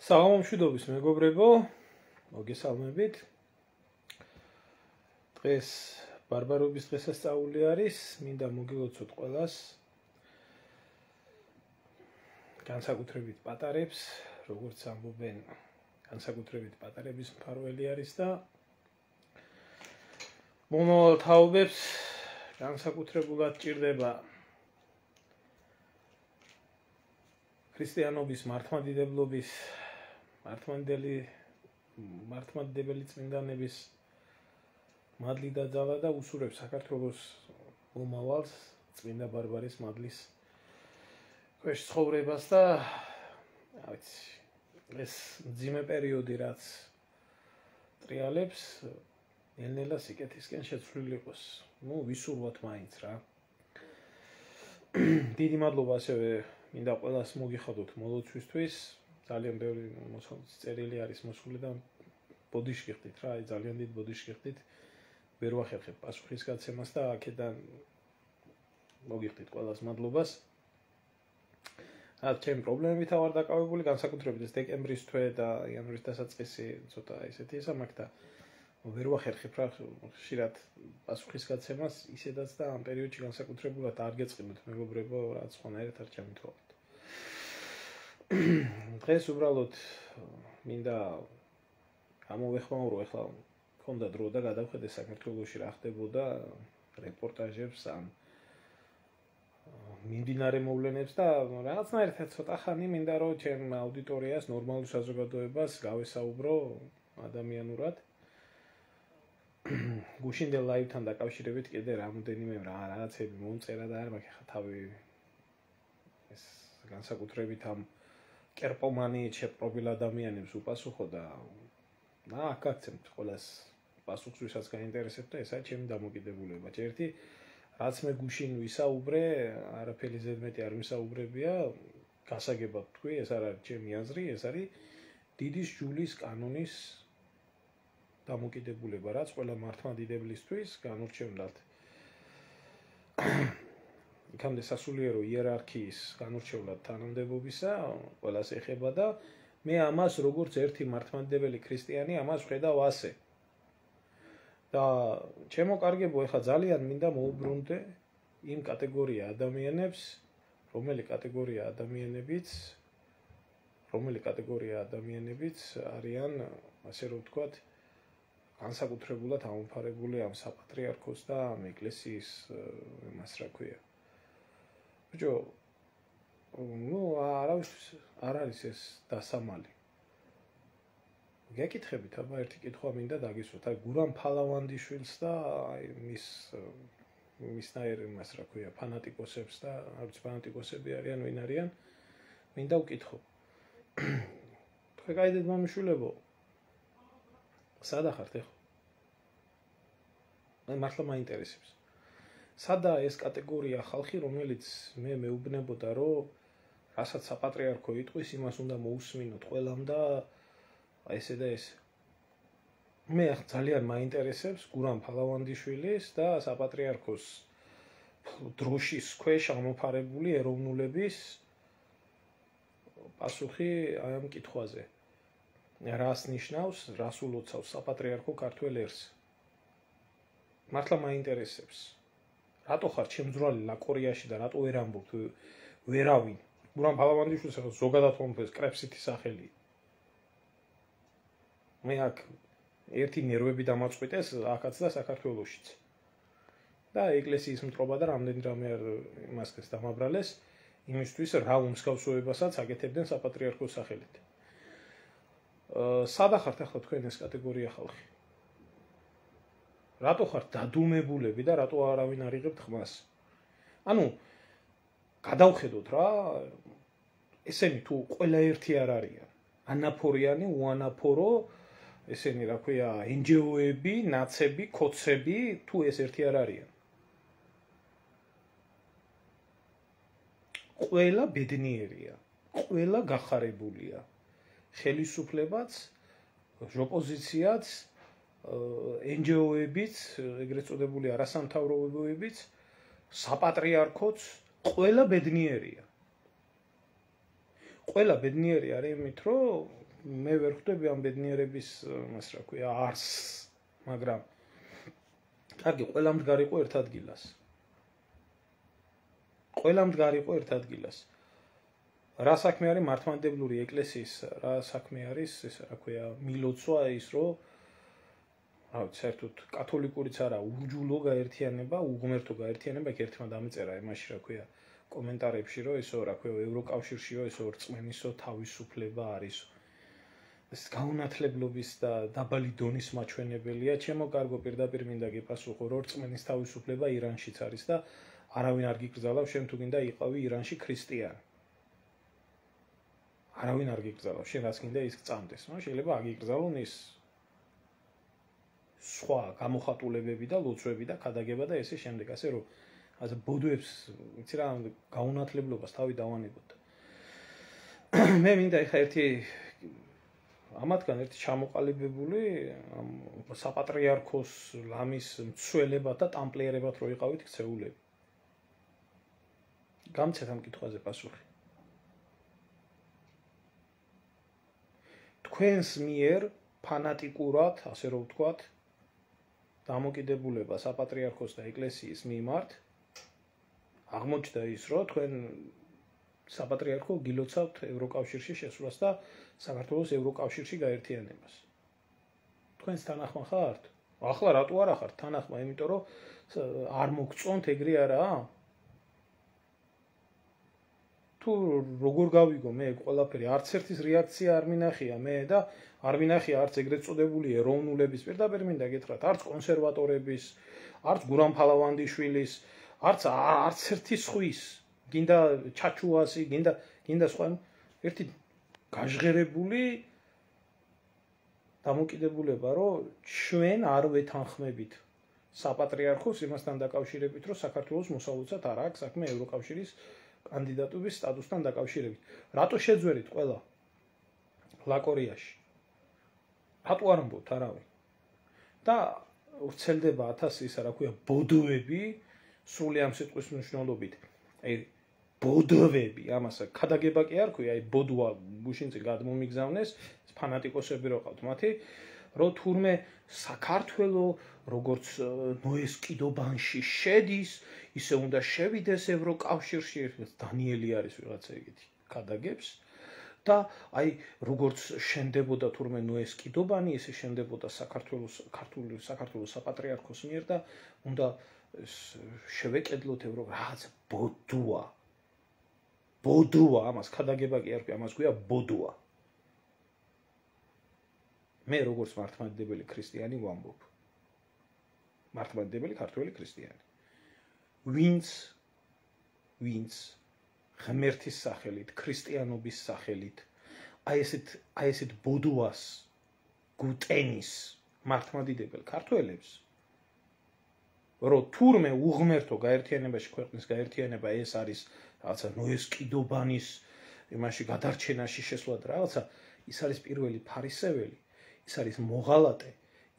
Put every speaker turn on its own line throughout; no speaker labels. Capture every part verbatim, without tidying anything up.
საღამომშვიდობის მეგობრებო, მოგესალმებით. დღეს ბარბარობის დღესასწაული არის, მინდა მოგილოცოთ ყველას. განსაკუთრებით პატარებს, როგორც ამბობენ, განსაკუთრებით პატარების მფარველი არის და მომავალ თაობებს განსაკუთრებულად ჭირდება ქრისტიანობის მართლმადიდებლობის მართლმადიდებელი მართლმადიდებელი წმინდანების მადლი და ძალა და უსურვებს საქართველოს მომავალს წმინდა ბარბარის მადლის ქვეშ ცხოვრებას და ვიცი ეს მძიმე პერიოდი რაც ტრიალებს ნელ-ნელა სიკეთისკენ შეცვლილი იყოს. ნუ ვისურვოთ მაინც რა. დიდი მადლობა ასევე მინდა ყველას მოგიხადოთ მოლოცვისთვის. ძალიან ბევრი წერილი არის მოსული და ბოდიში გიხდით რა, აი ძალიან დიდ ბოდიში გიხდით. ვერ ვახერხებ პასუხის გაცემას და აქედან მოგიხდით ყველას მადლობას. რა ჩემი პრობლემებით ვარ დაკავებული, განსაკუთრებით ეს დეკემბრის თვე და იანვრის დასაწყისი ცოტა ესეთი ისამაკ და ვერ ვახერხებ რა ხშირად პასუხის გაცემას ისედაც და ამ პერიოდში განსაკუთრებულად არ გეწყინოთ მეგობრებო, რაც ხონერად არ ჩამითვალოთ. დღეს უბრალოდ მინდა გამოვეხმაურო, ეხლა მქონდა დრო და გადავხედე საქართველოში რა ხდებოდა რეპორტაჟებს ან მიმდინარე მოვლენებს და რაღაცნაირად ცოტა ხანი მინდა რომ ჩემ აუდიტორიას ნორმალურ საზოგადოებას გავესაუბრო ადამიანურად. გუშინდელ ლაივთან დაკავშირებით კიდე რამოდენიმე რაღაცები მომწერა და არ მაქვს ხა თავი ეს განსაკუთრებით ამ კერპომანიით შეპყრობილ ადამიანებს უპასუხო და და აკაცებთ ყველას პასუხს ვისაც გაინტერესებთ და ესაა ჩემი დამოკიდებულება. ერთი რაც მე გუშინ ვისაუბრე, არაფერი ზედმეტი არ ვისაუბრებია, გასაგებად თქვი, ეს არ არის ჩემი აზრი, ეს არის დიდი სჯულის კანონის დამოკიდებულება, რაც ყველა მართლმადიდებლისთვის განურჩევლად. იქამდე სასულიერო იერარქიის განურჩევლად თანამდებობისა ყველას ეხება და მე ამას როგორც ერთი მართლმადიდებელი ქრისტიანი ამას ვხედავ ასე. და ჩემო კარგებო, ეხლა ძალიან მინდა მოუბრუნდე იმ კატეგორია ადამიანებს, რომელი კატეგორია ადამიანებიც, რომელი კატეგორია ადამიანებიც არიან, ასე რომ ვთქვათ, განსაკუთრებულად ამოფარებული ამ საპატრიარქოს და ამ ეკლესიის იმას რა ქვია. ბიჭო, ნუ არავისთვის არ არის ეს დასამალი. გეკითხებით, აბა ერთი კითხვა მინდა დაგისვათ. აი გურამ ფალავანდიშვილს და აი მის მისნაირ იმას რა ქვია, ფანატიკოსებს და არც ფანატიკოსები არიან, ვინ არიან, მინდა ვკითხო. თქვენ გაიდეთ მამიშვილებო, სადა ხართ ეხლა? მე მართლა მაინტერესებს. სადა ეს კატეგორია ხალხი, რომელიც მე მეუბნებოდა, რომ რასაც საპატრიარქო იტყვის, იმას უნდა მოусმინოთ ყველამ და აი ესე და ესე. მე ძალიან მაინტერესებს გურამ ფალავანდიშვილის და საპატრიარქოს დროშის ქვეშ ამოფარებული ეროვნულების პასუხი აი ამ კითხვაზე. რას ნიშნავს, რას ულოცავს საპატრიარქო ქართველ ერს? მართლა მაინტერესებს. რატო ხარ ჩემძვრალი ლაკორიაში და რატო ვერ ამბობთ ვერავინ? გურამ ფალავანდიშვილს ახლა ზოგადად მომფეს კრეფსითი სახელი. მე აქ ერთი ნერვები დამაწყვიტეს აქაც და საქართველოშიც. და ეკლესიის მტრობა და რამდენი რამე იმასკეს დამაბრალეს იმისთვის რა უმსგავსოებასაც აკეთებდნენ საპატრიარქოს სახელით. სადა ხართ ახლა თქვენ ეს კატეგორია ხალხი? რატო ხართ დადუმებულები და რატო არავინ არ იღებთ ხმას? ანუ გადავხედოთ რა, ესენი თუ ყველა ერთი არ არიან. ანაფორიანი, უანაფორო, ესენი რა ქვია, ენჯეოები, ნაცები, ქოცები, თუ ეს ერთი არ არიან. ყველა ბედნიერია, ყველა გახარებულია. ხელისუფლებაც, ოპოზიციაც, ენჯეოებიც, ეგრეთ წოდებული არასამთავრობოებიც, საპატრიარქოც, ყველა ბედნიერია. ყველა ბედნიერი არის იმით, რომ მე ვერ ხვდები ამ ბედნიერების მას რა ქვია არსს, მაგრამ კარგი, ყველა მდგარიყო ერთ ადგილას. ყველა მდგარიყო ერთ ადგილას. რა საქმე არის მართლმადიდებლური ეკლესიის, რა საქმე არის, ეს რა ქვია, მილოცვა ის, რომ რა ვიცი, საერთოდ კათოლიკურიც არა, ურჯულო გაერთიანება, უღმერთო გაერთიანება, იქ ერთმა დამეწერა იმაში, რა ქვია, კომენტარებში, რომ ესო, რა ქვია, ევროკავშირშიო, ესო რწმენისო თავისუფლება არის. ეს გაუნათლებლობის და დაბალი დონის მაჩვენებელია. ჩემო კარგო, პირდაპირ მინდა გიპასუხო, რომ რწმენის თავისუფლება ირანშიც არის და არავინ არ გიკრძალავს, შენ თუ გინდა იყავი ირანში ქრისტიანი. არავინ არ გიკრძალავს, შენ რაც გინდა ის გწამდეს. ნუ შეიძლება აგიკრძალონ ის სხვა გამოხატულებები და ლოცვები და ქადაგება და ესე შემდეგ, ასე რომ ასე ბოდუებს, ვიცი რა, გაუნათლებლობას თავი დავანებოთ. მე მინდა ეხა ერთი ამათგან ერთი ჩამოყალიბებული საპატრიარქოს ლამის მცველებად და ტამპლიერებად რო იყავით ქცეულები. გამცეთ ამ კითხვაზე პასუხი. თქვენს მიერ ფანატიკურად, ასე რომ ვთქვათ, დამოკიდებულება საპატრიარქოს და ეკლესიის მიმართ აღმოჩნდა ის, რომ თქვენ საპატრიარქო გილოცავთ ევროკავშირში შესვლას და საქართველოს ევროკავშირში გაერთიანებას. თქვენს თანახმა ხართ? ახლა რატო არა ხართ თანახმა? იმიტომ რომ არ მოგწონთ ეგრე არაა? თუ როგორ გავიგო მე ყველაფერი, არც ერთის რეაქცია არ მინახია მე და არ მინახია არც ეგრეთ წოდებული ეროვნულების, პირდაპირ მინდა გითხრათ, არც კონსერვატორების, არც გურამ ფალავანდიშვილის, არც არც ერთი სხვის, გინდა ჩაჩუასი, გინდა გინდა სხვა, ერთი გაჟღერებული დამოკიდებულება, რომ ჩვენ არ ვეთანხმებით საპატრიარქოს იმასთან დაკავშირებით, რომ საქართველოს მოსავლოცად არ აქვს საქმე ევროკავშირის კანდიდატობის სტატუსთან დაკავშირებით. რატო შეძვერით ყველა ლაკორიაში? რატო არ ამბობთ არავინ? და ვრცელდება ათასი ისა, რა ქვია, ბოდოები, სრული ამ სიტყვის მნიშვნელობით. აი, ბოდოვები, ამას ქადაგება კი არ ქვია, აი, ბოდვა გუშინწინ გადმომიგზავნეს, ფანატიკოსები რო ყავთ მათი, რომ თურმე საქართველო როგორც ნოეს კიდობანში შედის, ისე უნდა შევიდეს ევროკავშირში, დანიელი არის ვიღაცა ეგეთი ქადაგებს და აი როგორც შენდებოდა თურმე ნოეს კიდობანი, ისე შენდებოდა საქართველოს ქართული საქართველოს საპატრიარქოს მიერ და უნდა შევეკედლოთ ევრო რაღაც ბოდვა. ბოდვა, ამას ქადაგება კი არ ქვია, ამას ქვია ბოდვა. მე როგორც მართლმადიდებელი ქრისტიანი ვამბობ. მართლმადიდებელი ქართველი ქრისტიანი. ვინც ვინც ღმერთის სახელით, ქრისტიანობის სახელით, აი ესეთ აი ესეთ ბოდვას გუტენის მართლმადიდებელ ქართველებს, რომ თურმე უღმერთო გაერთიანებაში ქვეყნის გაერთიანება ეს არის რაღაცა ნოეს კიდობანის იმაში გადარჩენაში შესვლა და რაღაცა, ის არის პირველი ფარისეველი, ის არის მოღალატე,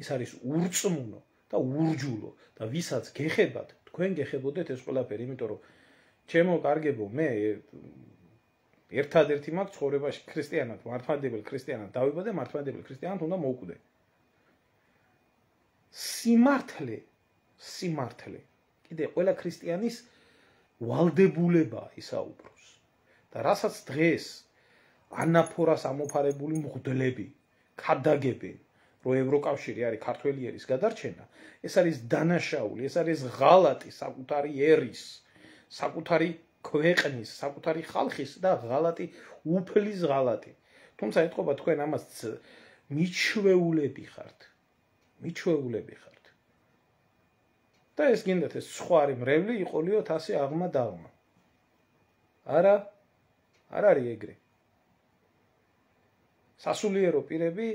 ის არის ურწმუნო და ურჯულო და ვისაც გეხებათ, თქვენ გეხებოდეთ ეს ყველაფერი, იმიტომ რომ ჩემო კარგებო, მე ერთადერთი მაქვს ცხოვრებაში ქრისტიანად, მართლმადიდებელ ქრისტიანად დავიბადე, მართლმადიდებელ ქრისტიანად უნდა მოვკვდე. სიმართლე, სიმართლე. კიდე ყველა ქრისტიანის ვალდებულებაა ისაუბროს. და რასაც დღეს ანაფორას ამოფარებული მღვდლები ქადაგებენ, რომ ევროკავშირი არის ქართველი ერის გადარჩენა, ეს არის დანაშაული, ეს არის ღალატი საკუთარი ერის, საკუთარი ქვეყნის, საკუთარი ხალხის და ღალატი, უფლის ღალატი. თუმცა ეთყობა თქვენ ამას მიჩვეულები ხართ. მიჩვეულები ხართ. და ეს გინდათ ეს სხვა არის მრევლი, იყოლიოთ ასე აღმა დაღმა. არა, არ არის ეგრე. სასულიერო პირები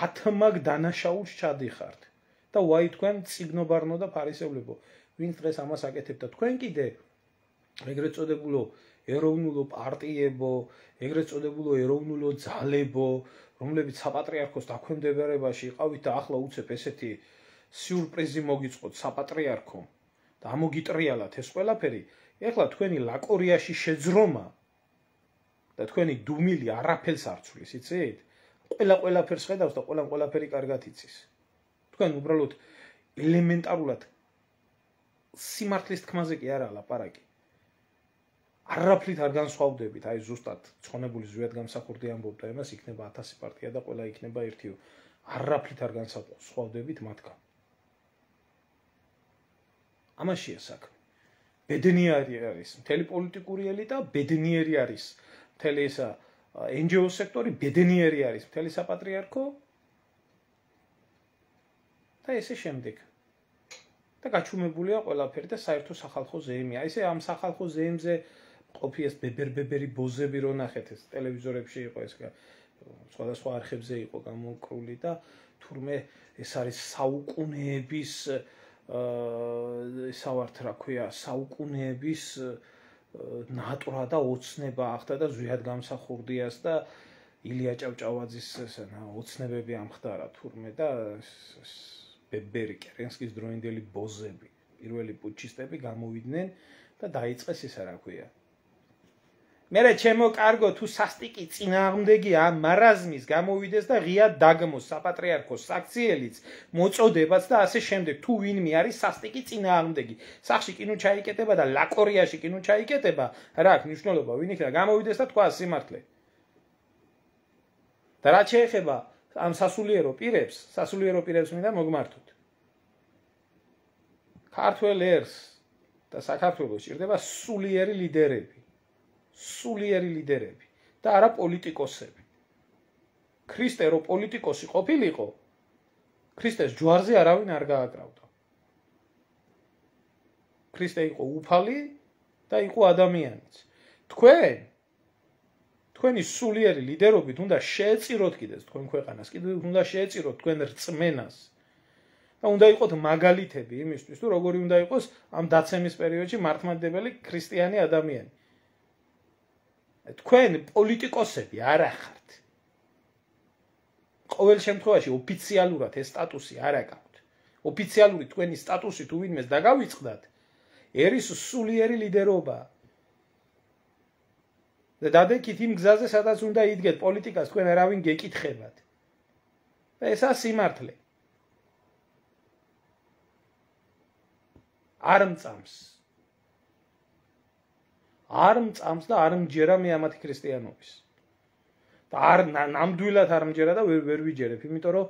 ათმაგ დანაშაულს ჩადიხართ და ვაი თქვენ წიგნობარნო და ფარისევლებო, ვინც დღეს ამას აკეთებთ და თქვენ კიდე ეგრეთ წოდებულო ეროვნულო პარტიებო, ეგრეთ წოდებულო ეროვნულო ძალებო, რომლებიც საპატრიარქოს დაქვემდებარებაში იყავით და ახლა უცებ ესეთი სიურპრიზი მოგიწყოთ საპატრიარქომ და ამოგიტრიალათ ეს ყველაფერი, ეხლა თქვენი ლაკორიაში შეძრომა და თქვენი დუმილი არაფერს არ ცვლის, იცით? ყველა ყველაფერს ხედავს და ყველამ ყველაფერი კარგად იცის. თქვენ უბრალოდ ელემენტარულად სიმართლის თქმაზე კი არა ლაპარაკი. არაფრით არ განსხვავდებით, აი ზუსტად ცხონებული ზვიად გამსახურდი ამბობდა იმას, იქნება ათასი პარტია და ყველა იქნება ერთიო. არაფრით არ განსხვავდებით მათგან. ამაშია საქმე. ბედნიერი არის მთელი პოლიტიკური ელიტა, ბედნიერი არის მთელი ესა εν ჯი ო სექტორი, ბედნიერი არის მთელი საპატრიარქო და ესე შემდეგ. და გაჩუმებულია ყველაფერი და საერთო სახალხო ზეიმია. ესე ამ სახალხო ზეიმზე ყოფი ეს ბებერ-ბებერი ბოზები რო ნახეთ, ეს ტელევიზორებში იყო ეს სხვადასხვა არხებზე იყო გამოკრული და თურმე ეს არის საუკუნეების ესა ვართ რა ქვია, საუკუნეების ნატვრა და ოცნება ახდა და ზვიად გამსახურდიას და ილია ჭავჭავაძის ოცნებები ამხდარა თურმე და ბებერი კერენსკის დროინდელი ბოზები, პირველი პუჩისტები გამოვიდნენ და დაიწყეს ისა რა ქვია. მერე ჩემო კარგო თუ სასტიკი წინააღმდეგი ამ მარაზმის გამოვიდეს და ღია დაგმოს საპატრიარქოს საქციელიც მოწოდებაც და ასე შემდეგ თუ ვინმე არის სასტიკი წინააღმდეგი სახში კინო ჩაიკეტება და ლაკორიაში კინო ჩაიკეტება რა აქვს მნიშვნელობა ვინ იქნება გამოვიდეს და თქვა სიმართლე და რა შეეხება ამ სასულიერო პირებს სასულიერო პირებს მინდა მოგმართოთ ქართველ ერს და საქართველოს ჭირდება სულიერი ლიდერები სულიერი ლიდერები და არა პოლიტიკოსები. ქრისტე რო პოლიტიკოსი ყოფილიყო, ქრისტეს ჯვარზე არავინ არ გააკრავდა. ქრისტე იყო უფალი და იყო ადამიანიც. თქვენ თქვენი სულიერი ლიდერობით უნდა შეეწიროთ კიდეც თქვენ ქვეყანას, კიდევ უნდა შეეწიროთ თქვენ რწმენას. და უნდა იყოთ მაგალითები იმისთვის, თუ როგორი უნდა იყოს ამ დაცემის პერიოდში მართლმადიდებელი ქრისტიანი ადამიანი. თქვენ პოლიტიკოსები არ ახართ. ყოველ შემთხვევაში ოფიციალურად ეს სტატუსი არ აქვს. ოფიციალური თქვენი სტატუსი თუ ვინმეს დაგავიწყდათ, ერის სულიერი ლიდერობა. და დადექით იმ გზაზე, სადაც უნდა იდგეთ პოლიტიკას, თქვენ არავინ გეკითხებათ. და ესაა სიმართლე. არ მწამს. არ მწამს და არ მჯერა მე ამათი ქრისტიანობის. და არ ნამდვილად არ მჯერა და ვერ ვერ ვიჯერებ, იმიტომ რომ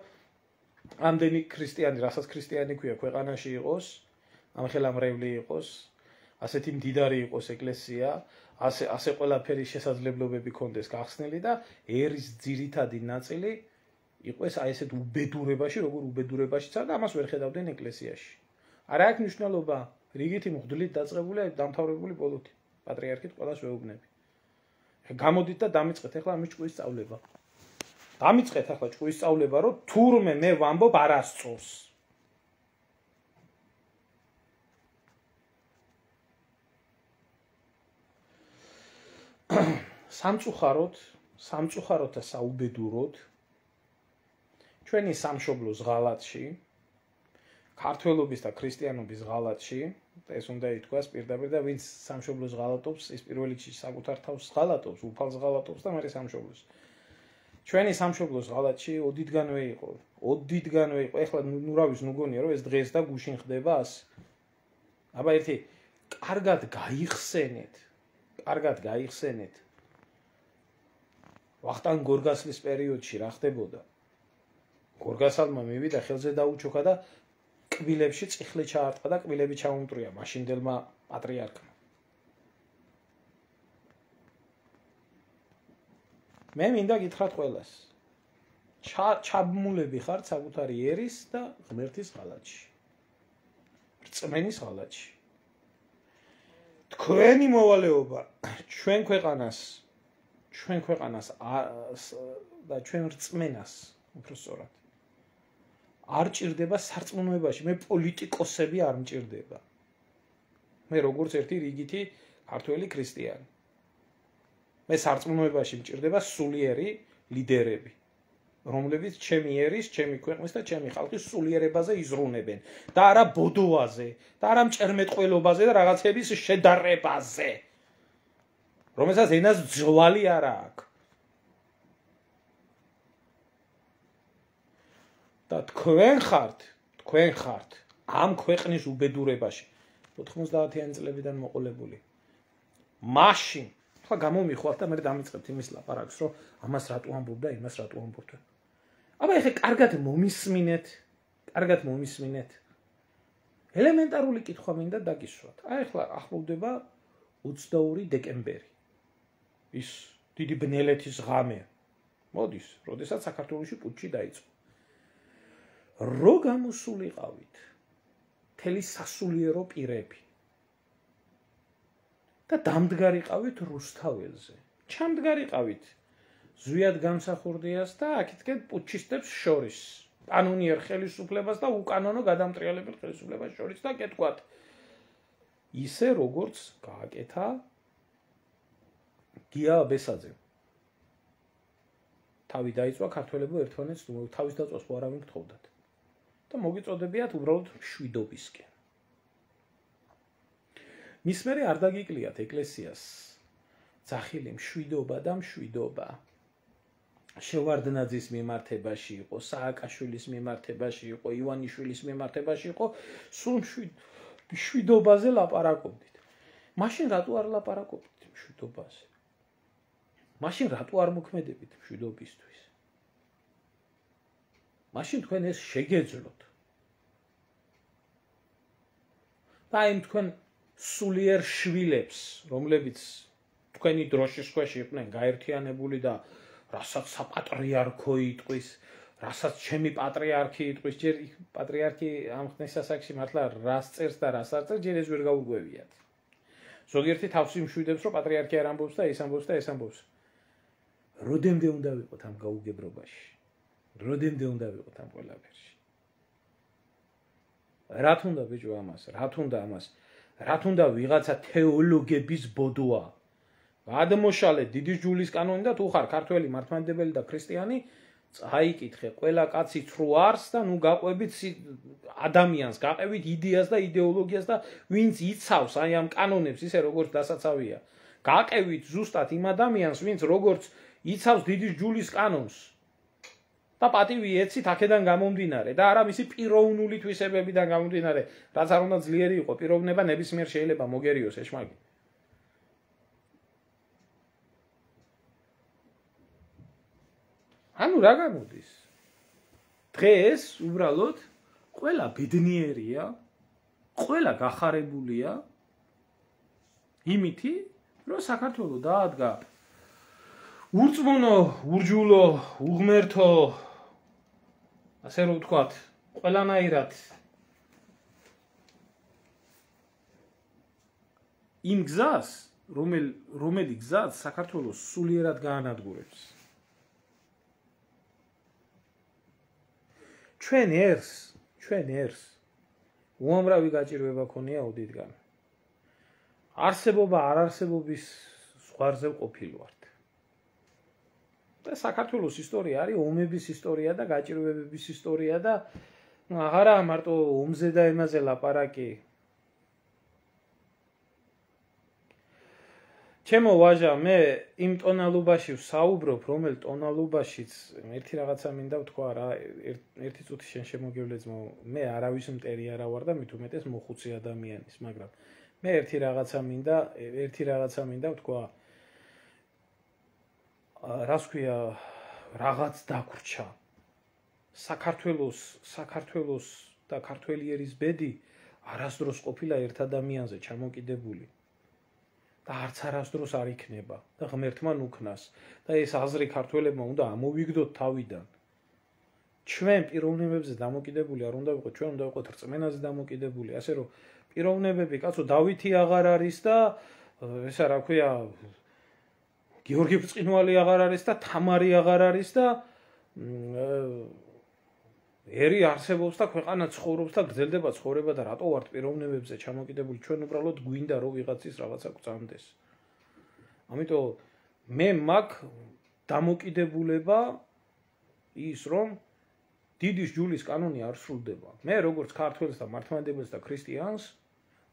ამდენი ქრისტიანი, რასაც ქრისტიანი ქვია, ქვეყანაში იყოს, ამხელამრევლი იყოს, ასეთი მდიდარი იყოს ეკლესია, ასე ასე ყველაფერი შესაძლებლობები ქონდეს გახსნილი და ერის ძირითადი ნაწილი იყოს აი ესეთ უბედურებაში, როგორ უბედურებაშიცა და ამას ვერ ხედავდნენ ეკლესიაში. არა აქვს მნიშვნელობა, რიგითი მღვდლით დაწყებული დამთავრებული პოლიტი. პატრიარქით ყველას ვეუბნები. გამოდით და დამიწყეთ ახლა ამის ჭკუის სწავლება. დამიწყეთ ახლა ჭკუის სწავლება, რომ თურმე მე ვამბობ არასწორს. სამწუხაროდ, სამწუხაროდ და საუბედუროდ ჩვენი სამშობლოს ღალატში, ქართველობის და ქრისტიანობის ღალატში ეს უნდა ითქვას პირდაპირ და ვინც სამშობლოს ღალატობს, ის პირველ რიგში საკუთარ თავს ღალატობს, უფალს ღალატობს და მეორე სამშობლოს. ჩვენი სამშობლოს ღალატში ოდითგანვე იყო, ოდითგანვე იყო. ეხლა ნუ რა ვიცი, ნუ გონია რომ ეს დღეს და გუშინ ხდება ასე. აბა ერთი კარგად გაიხსენეთ, კარგად გაიხსენეთ. ვახტანგ გორგასლის პერიოდში რა ხდებოდა? გორგასალმა მივიდა ხელზე დაუჩოქა და კბილებში წიხლი ჩაარტყა და კბილები ჩაუმტრია მაშინდელმა პატრიარქმა. მე მინდა გითხრათ ყველას. ჩაბმულები ხართ საკუთარი ერის და ღმერთის ღალატში. რწმენის ღალატში. თქვენი მოვალეობა ჩვენ ქვეყანას, ჩვენ ქვეყანას და ჩვენ რწმენას, უფრო სწორად. არ ჭირდება სარწმუნოებაში, მე პოლიტიკოსები არ მჭირდება. მე როგორც ერთი რიგითი ქართველი ქრისტიანი. მე სარწმუნოებაში მჭირდება სულიერი ლიდერები, რომლებიც ჩემი ერის, ჩემი ქვეყნის და ჩემი ხალხის სულიერებაზე იზრუნებენ და არა ბოდოაზე და არა მჭერმეტყველობაზე და რაღაცების შედარებაზე, რომელსაც ენას ძვალი არ აქვს. და თქვენ ხართ, თქვენ ხართ ამ ქვეყნის უბედურებაში ოთხმოცდაათიანი წლებიდან მოყოლებული. მაშინ ხა გამომიხვალთ და მე დამიწყებთ იმის ლაპარაკს, რომ ამას რატო ამბობ და იმას რატო ამბობ. აბა ეხლა კარგად მომისმინეთ, კარგად მომისმინეთ. ელემენტარული კითხვა მინდა დაგისვათ. აი ეხლა ახლოვდება ოცდაორი დეკემბერი. ის დიდი ბნელეთის ღამე. მოდის, როდესაც საქართველოში პუტჩი დაიწყო. რო გამოსულიყავით მთელი სასულიერო პირები და დამდგარიყავით რუსთაველზე. ჩამდგარიყავით ზვიად გამსახურდიას და აქეთკენ პუტჩისტებს შორის. კანონიერ ხელისუფლებას და უკანონო გადამტრიალებელ ხელისუფლებას შორის და კეთქვათ ისე როგორც გააკეთა გია აბესაძემ. თავი დაიწვა ქართველებო ერთმანეთს თავის დაწვას ხო არავინ გთხოვდათ და მოგიწოდებიათ უბრალოდ მშვიდობისკენ. მის მერე არ დაგიკლიათ ეკლესიას ძახილი მშვიდობა და მშვიდობა. შევარდნაძის მიმართებაში იყო, სააკაშვილის მიმართებაში იყო, ივანიშვილის მიმართებაში იყო, სულ მშვიდობაზე ლაპარაკობდით. მაშინ რატო არ ლაპარაკობდით მშვიდობაზე? მაშინ რატო არ მოქმედებით მშვიდობისთვის? მაშინ თქვენ ეს შეგეძლოთ. და იმ თქვენ სულიერ შვილებს, რომლებიც თქვენი დროშის ქვეშ იყვნენ გაერთიანებული და რასაც საპატრიარქო იტყვის, რასაც ჩემი პატრიარქი იტყვის, ჯერ პატრიარქი ამ ხნის ასაკში მართლა რას წერს და რას არ წერს, ჯერ ეს ვერ გაუგვევიათ. ზოგიერთი თავს იმშვიდებს, რომ პატრიარქი არ ამბობს და ეს ამბობს და ეს ამბობს. როდემდე უნდა ვიყოთ ამ გაუგებრობაში? როდემდე უნდა ვიყოთ ამ ყველაფერში? რა თუნდა ბიჭო ამას? რა თუნდა ამას? რა თუნდა ვიღაცა თეოლოგების ბოდოა? გადმოშალე დიდი ჯულის კანონი და თუ ხარ ქართველი მართლმადიდებელი და ქრისტიანი, წაიკითხე ყველა კაცი ცრუ არს და ნუ გაყვებით ადამიანს, გაყევით იდეას და იდეოლოგიას და ვინც იცავს აი ამ კანონებს ისე როგორც დასაცავია. გაყევით ზუსტად იმ ადამიანს, ვინც როგორც იცავს დიდი ჯულის კანონს. და პატივი ეცით აქედან გამომდინარე და არა მისი პიროვნული თვისებებიდან გამომდინარე, რაც არ უნდა ძლიერი იყო, პიროვნება ნებისმიერ შეიძლება მოგერიოს ეშმაკი. ანუ რა გამოდის? დღეს უბრალოდ ყველა ბედნიერია, ყველა გახარებულია იმითი, რომ საქართველო დაადგა ურწმუნო, ურჯულო, უღმერთო, ასე რომ ვთქვათ, ყველანაირად იმ გზას, რომელი გზაც საქართველოს სულიერად გაანადგურებს. ჩვენ ერს, ჩვენ ერს უამრავი გაჭირვება ქონია ოდითგან. არსებობა არ არსებობის ზღვარზე ყოფილვართ. და საქართველოს ისტორია არის ომების ისტორია და გაჭირვებების ისტორია და აღარა მარტო ომზე და ემაზე ლაპარაკი. ჩემო ვაჟა, მე იმ ტონალობაში ვსაუბრობ, რომელ ტონალობაშიც ერთი რაღაცა მინდა ვთქვა რა, ერთი წუთი შენ შემოგევლეძმო, მე არავის მტერი არა ვარ და მით უმეტეს მოხუცი ადამიანის, მაგრამ მე ერთი რაღაცა მინდა, ერთი რაღაცა მინდა ვთქვა. რას ქვია, რაღაც დაგვრჩა. საქართველოს, საქართველოს და ქართველიერის ბედი არასდროს ყოფილა ერთ ადამიანზე ჩამოკიდებული. და არც არასდროს არ იქნება და ღმერთმა ნუქნას და ეს აზრი ქართველებმა უნდა ამოვიგდოთ თავიდან. ჩვენ პიროვნებებზე დამოკიდებული არ უნდა ვიყოთ, ჩვენ უნდა ვიყოთ რწმენაზე დამოკიდებული, ასე რომ პიროვნებები, კაცო, დავითი აღარ არის და ესა რა ქვია, გიორგი ბრწყინვალი აღარ არის და თამარი აღარ არის და ერი არსებობს და ქვეყანა ცხოვრობს და გრძელდება ცხოვრება და რატო ვართ პიროვნებებზე ჩამოკიდებული? ჩვენ უბრალოდ გვინდა რომ ვიღაცის რაღაცა გვწამდეს. ამიტომ მე მაქვს დამოკიდებულება ის რომ დიდი ჯულის კანონი არ სრულდება. მე როგორც ქართველს და მართლმადიდებელს და ქრისტიანს,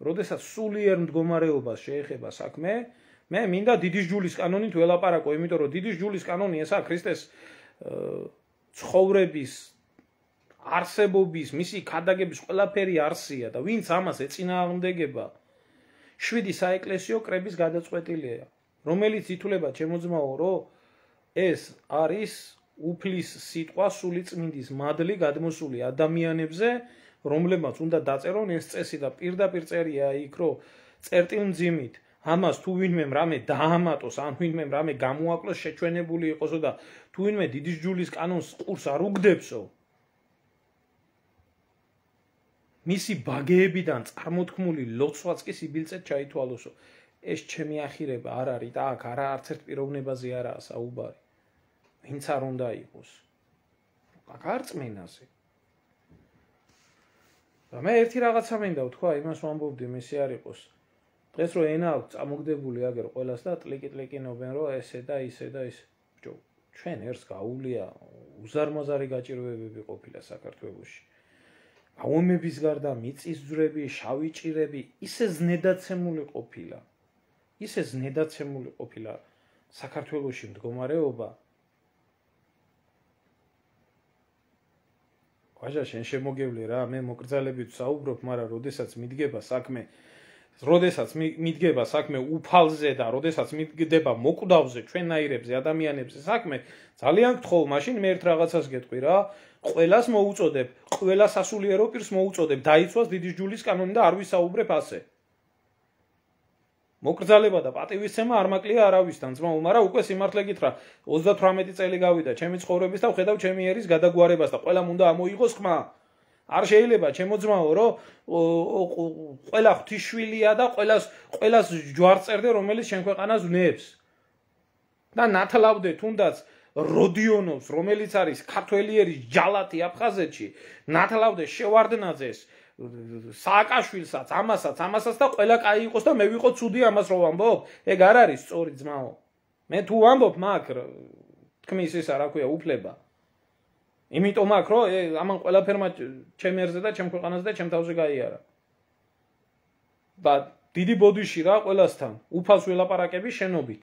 როდესაც სულიერ მდგომარეობას შეეხება საქმე, მე მინდა დიდი ჯულის კანონით ველაპარაკო, იმიტომ რომ დიდი ჯულის კანონი ესაა ქრისტეს ცხოვრების არსებობის, მისი ქადაგების ყველაფერი არსია და ვინც ამას ეწინააღმდეგება, შვიდი საეკლესიო კრების გადაწყვეტილია, რომელიც ითვლება ჩემოძმაო, რომ ეს არის უფლის სიტყვა სულიწმინდის მადლი გადმოსული ადამიანებზე, რომლებმაც უნდა დაწერონ ეს წესი და პირდაპირ წერია იქ, რომ წერტილმძიმით ამას თუ ვინმე რამე დაამატოს, ან ვინმე რამე გამოაკლოს შეჩვენებული იყოსო და თუ ვინმე დიდი ჯულის კანონს ყურს არ უგდებსო, მისი ბაგეებიდან წარმოთქმული ლოცვაც კი სიბილწეთ ჩაითვალოსო. ეს ჩემი ახირება არ არის და აქ არა არც ერთ პიროვნებაზე არაა საუბარი. ვინც არ უნდა იყოს. აქ არ წმენაზე. და მე ერთი რაღაცა მინდა ვთქვა, იმას ვამბობდი, მესი არ იყოს. დღეს რო ენა აქვს წამოგდებული აგერ ყველას და ტლიკი-ტლიკინობენ, რომ ესე და ისე და ისე. ბიჭო, ჩვენ ერთს გაუვლია უზარმაზარი გაჭირვებები ყოფილა საქართველოში. ომების გარდა მიწის ძვრები, შავი ჭირები, ისე ზნედაცემული ყოფილა. ისე ზნედაცემული ყოფილა საქართველოში მდგომარეობა. ვაჟა, შენ შემოგევლე რა, მე მოკრძალებით საუბრობ, მაგრამ როდესაც მიდგება საქმე, როდესაც მიდგება საქმე უფალზე და როდესაც მიდგება მოკვდავზე, ჩვენნაირებზე, ადამიანებზე საქმე, ძალიან გთხოვ, მაშინ მე ერთ რაღაცას გეტყვი რა, ყველას მოუწოდებ, ყველა სასულიერო პირს მოუწოდებ, დაიცვას დიდი ჯულის კანონი და არ ვისაუბრებ ასე. მოკრძალება და პატივისცემა არ მაკლია არავისთან, ძმაო, მაგრამ უკვე სიმართლე გითხრა, ოცდათვრამეტი წელი გავიდა ჩემი ცხოვრების და ვხედავ ჩემი ერის გადაგვარებას და ყველამ უნდა ამოიღოს ხმა. არ შეიძლება ჩემო ძმაო, რომ ყველა ღვთისშვილია და ყველას ყველას ჯვარს წერდე, რომელიც შენ ქვეყანას ვნებს. და ნათლავდე თუნდაც როდიონოვს, რომელიც არის ქართველი ერის ჯალათი აფხაზეთში, ნათლავდე შევარდნაძეს, სააკაშვილსაც, ამასაც, ამასაც და ყველა კაი იყოს და მე ვიყო ცუდი ამას რო ვამბობ? ეგ არ არის სწორი ძმაო. მე თუ ვამბობ მაგ თქმის ისა რა ქვია უფლება. იმიტომ აქ რომ ამან ყველაფერმა ჩემ ერზე და ჩემ ქვეყანაზე და ჩემ თავზე გაიარა. და დიდი ბოდიში რა ყველასთან, უფალს ველაპარაკები შენობით.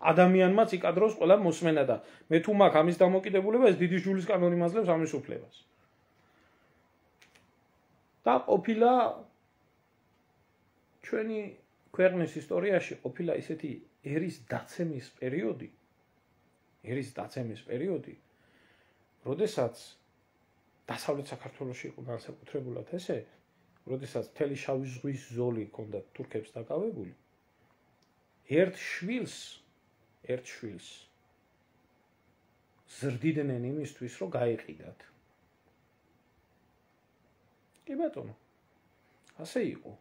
ადამიანმაც იკადროს ყველა მოსმენა და მე თუ მაგ ამის დამოკიდებულება ეს დიდი ჯულის კანონი მაძლევს ამის უფლებას. და ყოფილა ჩვენი ქვეყნის ისტორიაში ყოფილა ისეთი ერის დაცემის პერიოდი, ერის დაცემის პერიოდი, როდესაც დასავლეთ საქართველოში იყო განსაკუთრებულად ესე, როდესაც მთელი შავი ზღვის ზოლი ჰქონდა თურქებს დაკავებული, ერთ შვილს, ერთ შვილს ზრდიდნენ იმისთვის, რომ გაეყიდათ. კი ბატონო, ასე იყო.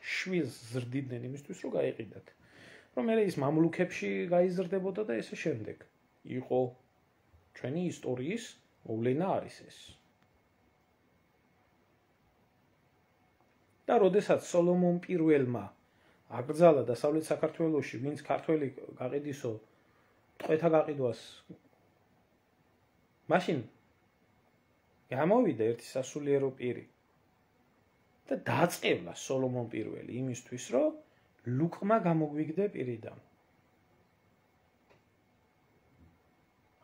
შვილს ზრდიდნენ იმისთვის, რომ გაეყიდათ. რომ მე ის მამლუქებში გაიზრდებოდა და ესე შემდეგ. იყო ჩვენი ისტორიის მოვლენა არის ეს. და როდესაც სოლომონ პირველმა აკრძალა დასავლეთ საქართველოში, ვინც ქართველი გაყიდისო, ტყვეთა გაყიდვას, მაშინ გამოვიდა ერთი სასულიერო პირი და დაწყევლა სოლომონ პირველი იმისთვის, რომ ლუკმა გამოგვიგდე პირიდან.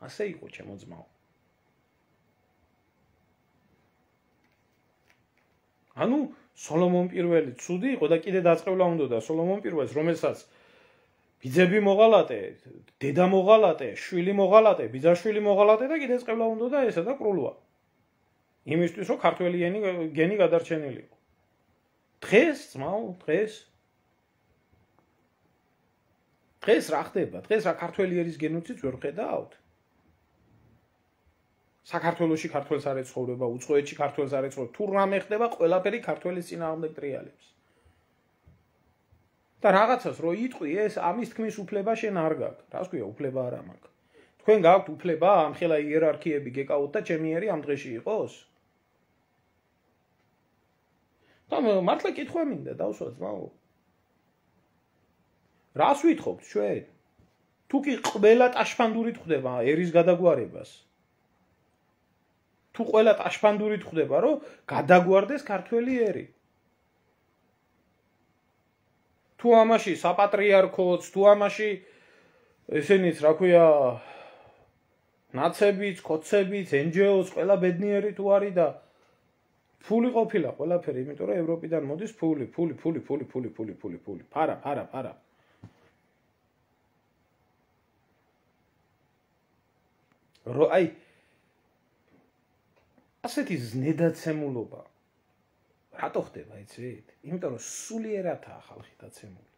ასე იყო ჩემო ძმაო. ანუ სოლომონ პირველი ცუდი იყო და კიდე დაწყევლა უნდა სოლომონ პირველს, რომელსაც ბიძები მოღალატე, დედა მოღალატე, შვილი მოღალატე, ბიძაშვილი მოღალატე და კიდე წყევლა უნდა და ესა და კრულვა. იმისთვის რომ ქართველი გენი გადარჩენილიყო. დღეს ძმაო, დღეს დღეს რა ხდება? დღეს რა ქართველი ერის გენოციდს ვერ ხედავთ? საქართველოში ქართველს არ ეცხოვრება, უცხოეთში ქართველს არ ეცხოვრება, თუ რამე ხდება, ყველაფერი ქართველის წინააღმდეგ ტრიალებს. და რაღაცას რო იტყვი, ეს ამის თქმის უფლება შენ არ გაქვს. რას ქვია, უფლება არა მაქვს. თქვენ გაქვთ უფლება ამხელა იერარქიები გეკავოთ და ჩემი ერი ამ დღეში იყოს? და მართლა კითხვა მინდა, დავსვა ძმაო. რას ვითხოვთ ჩვენ? თუ კი ყველა ტაშფანდურით ხდება ერის გადაგვარებას. თუ ყველა ტაშფანდურით ხდება, რომ გადაგვარდეს ქართველი ერი. თუ ამაში საპატრიარქოც, თუ ამაში ესენიც, რა ქვია, ნაცებიც, კოცებიც, ენჯეოს, ყველა ბედნიერი თუ არის და ფული ყოფილა ყველაფერი, იმიტომ რომ ევროპიდან მოდის ფული, ფული, ფული, ფული, ფული, ფული, ფული, ფული, ფარა, ფარა, ფარა. რო აი ასეთი ზნედაცემულობა რატო ხდება, იცით? იმიტომ რომ სულიერადაა ხალხი დაცემული.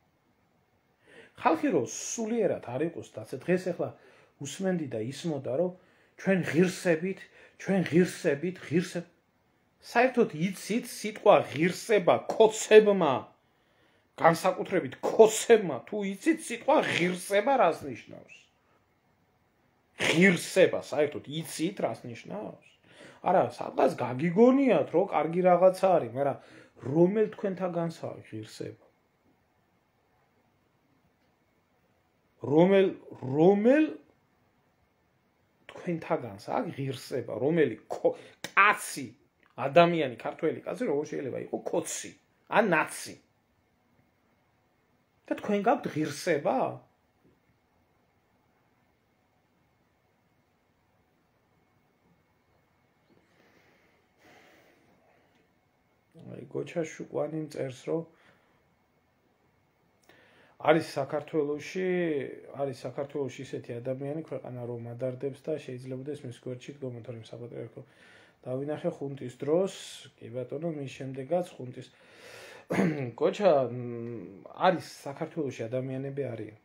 ხალხი რო სულიერად არ იყოს დაცე, დღეს ახლა უსმენდი და ისმოდა, რომ ჩვენ ღირსებით, ჩვენ ღირსებით, ღირსებ საერთოდ იცით სიტყვა ღირსება კოცებმა, განსაკუთრებით კოცებმა, თუ იცით სიტყვა ღირსება რას ნიშნავს? ღირსება საერთოდ იცით რას ნიშნავს? არა, სადღაც გაგიგონიათ, რომ კარგი რაღაცა არის, მაგრამ რომელ თქვენთაგანსაა ღირსება? რომელ რომელ თქვენთაგანსაა ღირსება, რომელი კაცი, ადამიანი, ქართველი კაცი როგორ შეიძლება იყოს კოცი, ან ნაცი? და თქვენ გაქვთ ღირსება? აი გოჩა შუკვანი წერს, რომ არის საქართველოში, არის საქართველოში ისეთი ადამიანი, ქვეყანა რომ ადარდებს და შეიძლება ეს მის გვერდში დგომა, თორემ საპატრიარქო დავინახე ხუნტის დროს, კი ბატონო, მის შემდეგაც ხუნტის გოჩა არის საქართველოში ადამიანები არიან.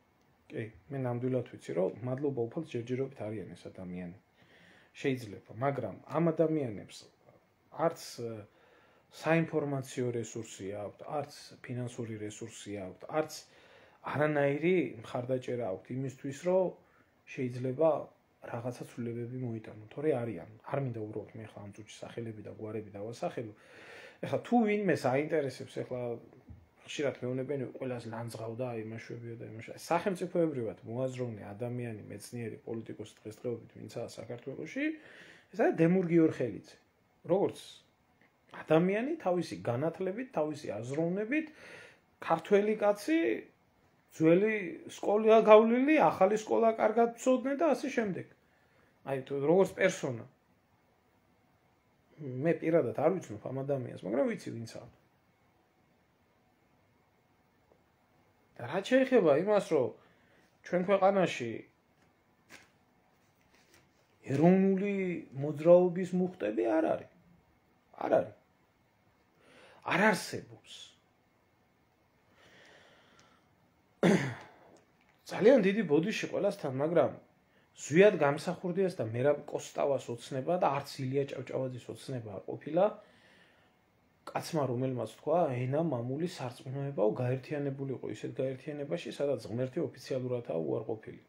კი, მე ნამდვილად ვიცი, რომ მადლობა უფალს ჯერჯერობით არიან ეს ადამიანი. შეიძლება, მაგრამ ამ ადამიანებს არც საინფორმაციო რესურსი აქვთ, არც ფინანსური რესურსი აქვთ, არც არანაირი მხარდაჭერა აქვთ იმისთვის, რომ შეიძლება რაღაცა ცვლილებები მოიტანონ, თორე არიან. არ მინდა უბრალოდ მე ხა ამ წუთში სახელები და გვარები დავასახელო. ეხლა თუ ვინმეს აინტერესებს, ეხლა ხშირად მეუბნებიან, ყველას ლანძღავდა, იმაშვებიო და იმაშა. სახელმწიფოებრივად მოაზროვნე ადამიანი, მეცნიერი, პოლიტიკოსი დღესდღეობით ვინცაა საქართველოში, ეს არის დემურ გიორხელიძე. როგორც ადამიანი თავისი განათლებით, თავისი აზროვნებით, ქართველი კაცი, ძველი სკოლა გავლილი, ახალი სკოლა კარგად ცოდნე და ასე შემდეგ. აი თუ როგორც პერსონა. მე პირადად არ ვიცნობ ამ ადამიანს, მაგრამ ვიცი ვინცაა. და რა შეიძლება იმას, რომ ჩვენ ქვეყანაში ეროვნული მოძრაობის მუხტები არ არის. არ არის. არ არსებობს. ძალიან დიდი ბოდიში ყველასთან, მაგრამ ზვიად გამსახურდიას და მერაბ კოსტავას ოცნება და არც ილია ჭავჭავაძის ოცნება არ ყოფილა. კაცმა რომელმაც თქვა, ენა მამული სარწმუნოებაო გაერთიანებულიყო ისეთ გაერთიანებაში, სადაც ღმერთი ოფიციალურადაა უარყოფილი.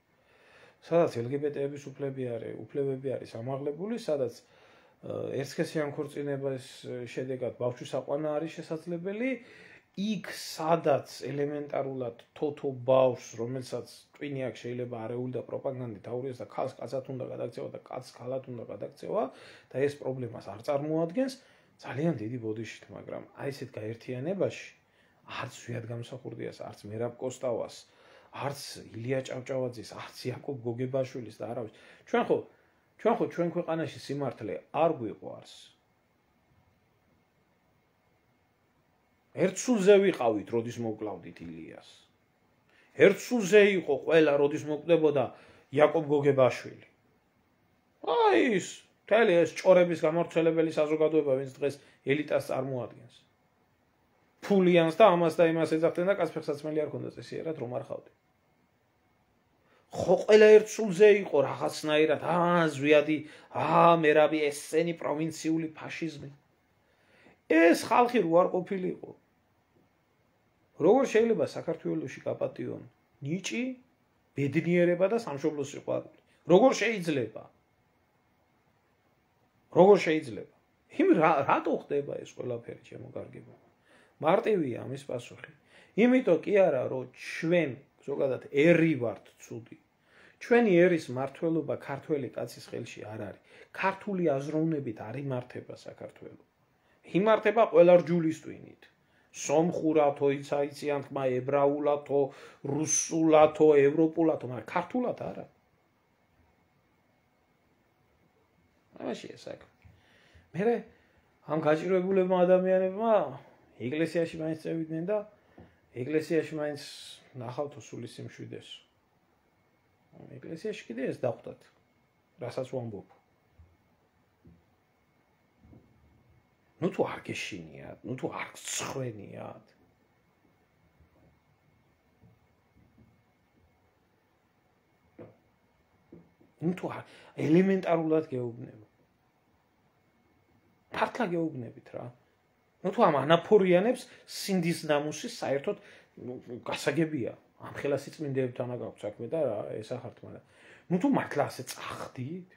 სადაც ელგბტების უფლებები არის, უფლებები არის ამაღლებული, სადაც ერთსქესიან ქორწინებას შედეგად ბავშვის აყვანა არის შესაძლებელი, იქ სადაც ელემენტარულად თოთო ბავშვს, რომელსაც ტვინი აქვს, შეიძლება არეული და პროპაგანდით აურიოს და ქალს კაცად უნდა გადაქცევა და კაცს ქალად უნდა გადაქცევა და ეს პრობლემას არ წარმოადგენს, ძალიან დიდი ბოდიშით, მაგრამ აი ესეთ გაერთიანებაში არც ზვიად გამსახურდიას, არც მერაბ კოსტავას, არც ილია ჭავჭავაძის, არც იაკობ გოგებაშვილის და არავის. ჩვენ ხო ჩვენ ხო ჩვენ ქვეყანაში სიმართლე არ გვიყვარს. ერთ სულზე ვიყავით, როდის მოკლავდით ილიას. ერთ სულზე იყო ყველა, როდის მოკვდებოდა იაკობ გოგებაშვილი. აი ის, მთელი ეს ჭორების გამავრცელებელი საზოგადოება, ვინც დღეს ელიტას წარმოადგენს. ფულიანს და ამას და იმას ეძახდნენ და კაცფეხსაცმელი არ ქონდა წესიერად რომ არ ხავდე. ხო ყველა ერთ სულზე იყო რაღაცნაირად, აა ზვიადი, აა მერაბი ესენი პროვინციული ფაშიზმი. ეს ხალხი რო არ ყოფილიყო. როგორ შეიძლება საქართველოში გაპატიონ ნიჭი, ბედნიერება და სამშობლოს სიყვარული? როგორ შეიძლება? როგორ შეიძლება? იმ რატო ხდება ეს ყველაფერი, ჩემო კარგებო? მარტივია ამის პასუხი. იმიტომ კი არა, რომ ჩვენ ზოგადად ერი ვართ ცუდი. ჩვენი ერის მართლობა ქართველი კაცის ხელში არ არის. ქართული აზროვნებით არ იმართება საქართველო. იმართება ყველა რჯულის ტვინით. სომხურათო, იცაიციან თქმა, ებრაულათო, რუსულათო, ევროპულათო, მაგრამ ქართულად არა. ამაშია საქმე. მერე ამ გაჭირვებულებმა ადამიანებმა ეკლესიაში მაინც წევიდნენ და ეკლესიაში მაინც ნახავთო სული სიმშვიდეს. ეკლესიაში კიდე ეს დახვდათ. რასაც ვამბობ. ნუ თუ არ გეშინიათ, ნუ თუ არ გცხვენიათ. ნუ თუ ელემენტარულად გეუბნება. ფართლა გეუბნებით რა. ნუ თუ ამ ანაფორიანებს სინდის ნამუსი საერთოდ გასაგებია. ამ ხელა სიწმინდეებთან აქვს საქმე და ესახართ, მაგრამ ნუ თუ მართლა ასე წახდით.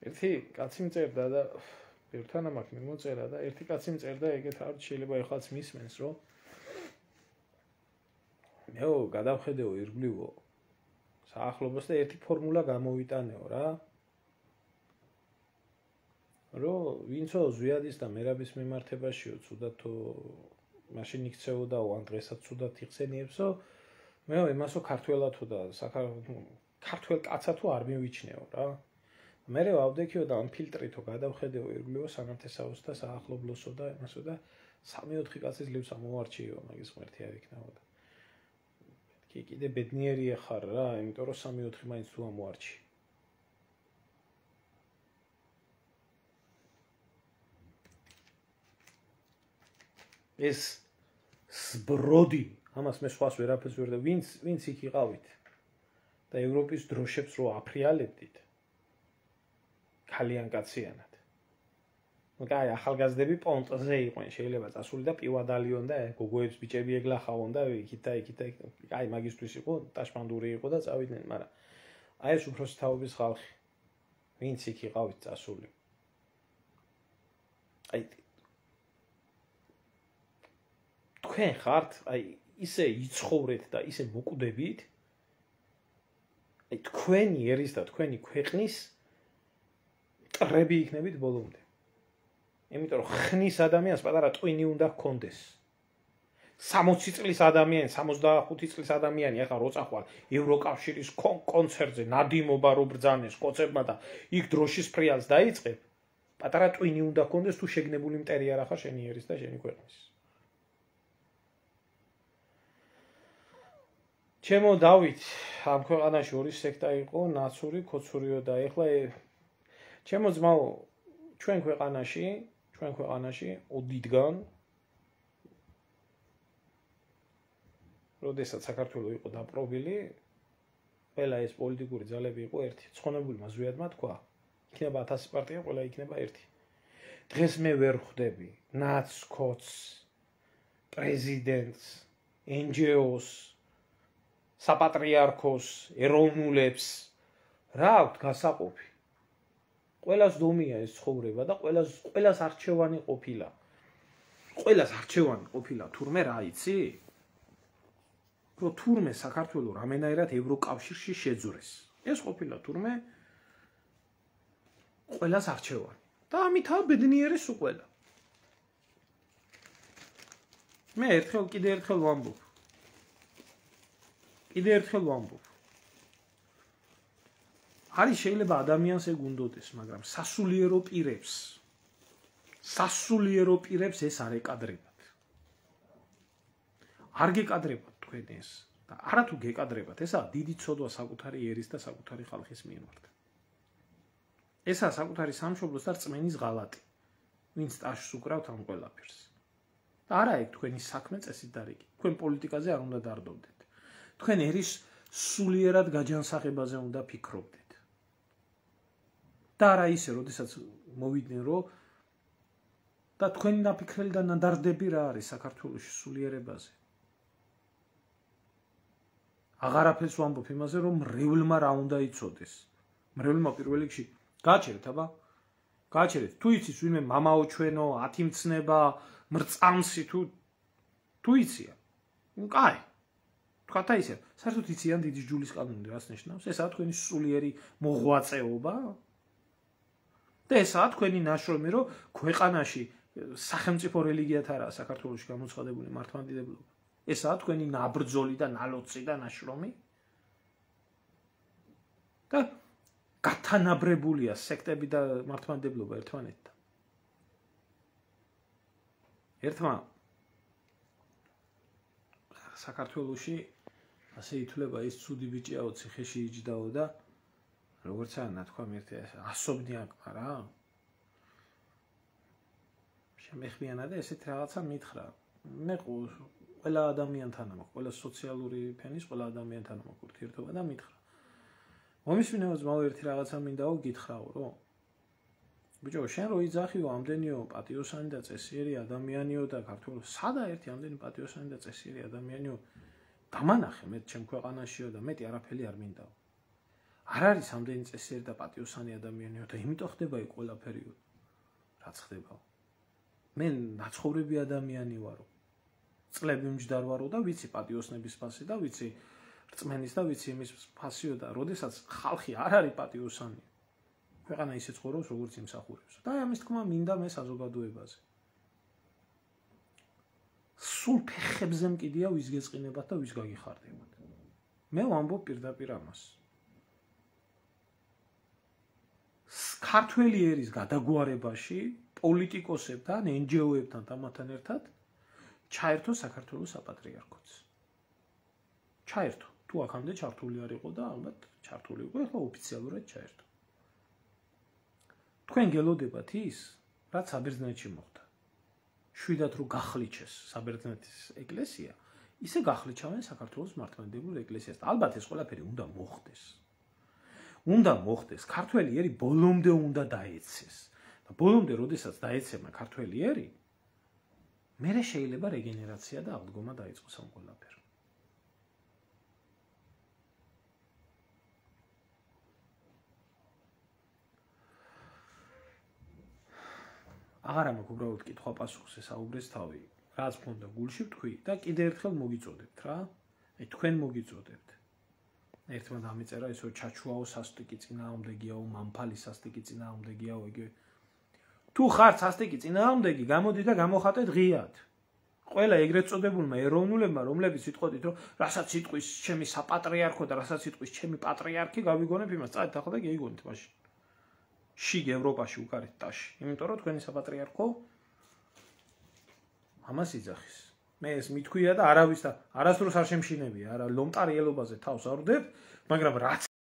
ერთი კაცი მწერდა და ერთთან ამაკ მიმოწერა და ერთი კაცი მწერდა ეგეთ არ შეიძლება ეხლაც მისმენს რომ მეო გადავხედეო ირგვლივო საახლობას და ერთი ფორმულა გამოვიტანეო რა რომ ვინცო ზვიადის და მერაბის მიმართებაშიო ცუდად თუ მაშინ იქცეოდაო ან დღესაც ცუდად იხსენიებსო მეო იმასო ქართველათო და საქართველოს ქართველ კაცათო არ მივიჩნეო რა მერე ვავდექიო და ამ ფილტრითო გადავხედეო ირგვლივო სანათესაოს და საახლობლოსო და იმასო და სამი ოთხი კაცის ლივს ამოვარჩიო მაგის ღმერთი არ იქნებოდა კი კიდე ბედნიერია ხარ რა იმიტომ რომ სამი ოთხი მაინც თუ ამოვარჩი ეს სბროდი ამას მე სხვას ვერაფერს ვერ და ვინც ვინც იქ იყავით და ევროპის დროშებს რო აფრიალებდით ხალიან კაციანად. მოგაი ახალგაზრდები პონტზე იყვნენ, შეიძლება წასული და პივადალიონ და გოგოებს ბიჭები ეგლახავონ და იქით და იქით და აი მაგისტრის იყო, ტაშმანდური იყო და წავიდნენ, მაგრამ აი ეს უფროსი თაობის ხალხი. ვინც იქ იყავით წასული. აი თქვენ ხართ, აი ისე იცხოვრეთ და ისე მოკვდებით. აი თქვენი ერის და თქვენი ქვეყნის ტრები იქნებით ბოლომდე. იმიტომ რომ ხნის ადამიანს პატარა ტვინი უნდა ჰქონდეს. სამოცი წლის ადამიანი, სამოცდახუთი წლის ადამიანი ახლა რო წახვალ ევროკავშირის კონცერტზე ნადიმობა რო ბრძანეს კოცებმა და იქ დროშის ფრიალს დაიწყებ, პატარა ტვინი უნდა ჰქონდეს თუ შეგნებული მტერი არ ახარ შენი ერის და შენი ქვეყნის. ჩემო დავით, ამ ქვეყანაში ორი სექტა იყო, ნაცური, ქოცურიო და ეხლა ჩემო ძმაო, ჩვენ ქვეყანაში, ჩვენ ქვეყანაში ოდითგან როდესაც საქართველოს იყო დაპყრობილი, ყველა ეს პოლიტიკური ძალები იყო ერთი. ცხონებულმა ზვიადმა თქვა, იქნება ათასი პარტია, ყველა იქნება ერთი. დღეს მე ვერ ხვდები ნაცს, ქოც, პრეზიდენტს, εν ჯი ოს, საპატრიარქოს, ეროვნულებს რა აქვთ გასაყოფი. ყველას დომია ეს ცხოვრება და ყველას ყველას არჩევანი ყოფილა. ყველას არჩევანი ყოფილა თურმე რა იცი? რომ თურმე საქართველოს რამენაირად ევროკავშირში შეძვრეს. ეს ყოფილა თურმე ყველას არჩევანი. და ამითაა ბედნიერი სულ ყველა. მე ერთხელ კიდე ერთხელ ვამბობ. კიდე ერთხელ ვამბობ. არის შეიძლება ადამიანს ეგ უნდოდეს, მაგრამ სასულიერო პირებს სასულიერო პირებს ეს არ ეკადრებათ. არ გეკადრებათ თქვენ ეს და არათუ გეკადრებათ, ესაა დიდი ცოდვა საკუთარი ერის და საკუთარი ხალხის მიმართ. ესაა საკუთარი სამშობლოს და რწმენის ღალატი, ვინც ტაშს უკრავთ ამ ყველაფერს. და არა ეგ თქვენი საქმე წესით დარიგი. თქვენ პოლიტიკაზე არ უნდა დარდობდეთ. თქვენ ერის სულიერად გაჯანსაღებაზე უნდა ფიქრობდეთ. და არა ისე, როდესაც მოვიდნენ, რომ და თქვენი ნაფიქრელი და ნადარდები რა არის საქართველოში სულიერებაზე. აღარაფერს ვამბობ იმაზე, რომ მრევლმა რა უნდა იცოდეს. მრევლმა პირველ რიგში გააჩერეთ, აბა. გააჩერეთ. თუ იცის ვინმე მამაო ჩვენო, ათიმცნება, მრწამსი თუ თუ იცია. ნუ კაი. თქვათ აი ისე, საერთოდ იციან დიდი ჯულის კანონი რას ნიშნავს? ესაა თქვენი სულიერი მოღვაწეობა. და ესაა თქვენი ნაშრომი, რომ ქვეყანაში სახელმწიფო რელიგიათ არაა საქართველოში გამოცხადებული მართლმადიდებლობა. ესაა თქვენი ნაბრძოლი და ნალოცი და ნაშრომი. და გათანაბრებულია სექტები და მართლმადიდებლობა ერთმანეთთან. ერთმა საქართველოში ასე ითვლება ის ცუდი ბიჭიაო ციხეში იჯდაო და როგორც არ ნათქვამ ერთი ასობნია რა. შემეხმიანა და ესეთ რაღაცა მითხრა. მე ყველა ადამიანთან მაქვს, ყველა სოციალური ფენის ყველა ადამიანთან მაქვს ურთიერთობა და მითხრა. მომისმინებაც მაო ერთი რაღაცა მინდაო გითხრაო, რომ ბიჭო, შენ რო იძახიო ამდენიო პატიოსანი და წესიერი ადამიანიო და ქართველო, სადა ერთი ამდენი პატიოსანი და წესიერი ადამიანიო დამანახე მე ჩემ ქვეყანაშიო და მეტი არაფერი არ მინდაო. არ არის ამდენი წესიერი და პატიოსანი ადამიანიო და იმიტომ ხდება იქ ყველაფერიო. რაც ხდებაო. მე ნაცხოვრები ადამიანი ვარო. წლები მჯდარ ვარო და ვიცი პატიოსნების ფასი და ვიცი რწმენის და ვიცი იმის ფასიო და როდესაც ხალხი არ არის პატიოსანი. ქვეყანა ისე ცხოვრობს როგორც იმსახურებს. და ამის თქმა მინდა მე საზოგადოებაზე. სულ ფეხებზე მკიდია ვის გეწყინებათ და ვის გაგიხარდებათ. მე ვამბობ პირდაპირ ამას. ქართველი ერის გადაგვარებაში პოლიტიკოსებთან, ენჯიოებთან და მათთან ერთად ჩაერთო საქართველოს საპატრიარქოც. ჩაერთო. თუ აქამდე ჩართული არ იყო და ალბათ ჩართული იყო, ახლა ოფიციალურად ჩაერთო. თქვენ გელოდებათ ის, რაც საბერძნეთში მოხდა. შვიდად რო გახლიჩეს საბერძნეთის ეკლესია, ისე გახლიჩავენ საქართველოს მართლმადიდებლურ ეკლესიას. ალბათ ეს ყველაფერი უნდა მოხდეს. უნდა მოხდეს, ქართველი ერი ბოლომდე უნდა დაეცეს. და ბოლომდე, როდესაც დაეცემა ქართველი ერი, მერე შეიძლება რეგენერაცია და აღდგომა დაიწყოს ამ ყველაფერს. აღარა მაქვს უბრალოდ კითხვა პასუხზე საუბრეს თავი. რაც მქონდა გულში ვთქვი და კიდე ერთხელ მოგიწოდებთ რა. აი თქვენ მოგიწოდებთ. ერთმა დამეწერა ისო ჩაჩუაო სასტიკი წინააღმდეგიაო, მამფალი სასტიკი წინააღმდეგიაო, იგივე. თუ ხარ სასტიკი წინააღმდეგი, გამოდი და გამოხატე ღიად. ყველა ეგრეთ წოდებულმა ეროვნულებმა, რომლებიც იტყოდით, რომ რასაც იტყვის ჩემი საპატრიარქო და რასაც იტყვის ჩემი პატრიარქი, გავიგონებ იმას, წადით ახლა და გეიგონეთ მაშინ. შიგ ევროპაში უკარეთ ტაში. იმიტომ რომ თქვენი საპატრიარქო ამას იძახის. მე ეს მithქვია და არავის და არასდროს არ შემშინებია, არა ლომტარი ელობაზე თავს არ ვდებ, მაგრამ რაც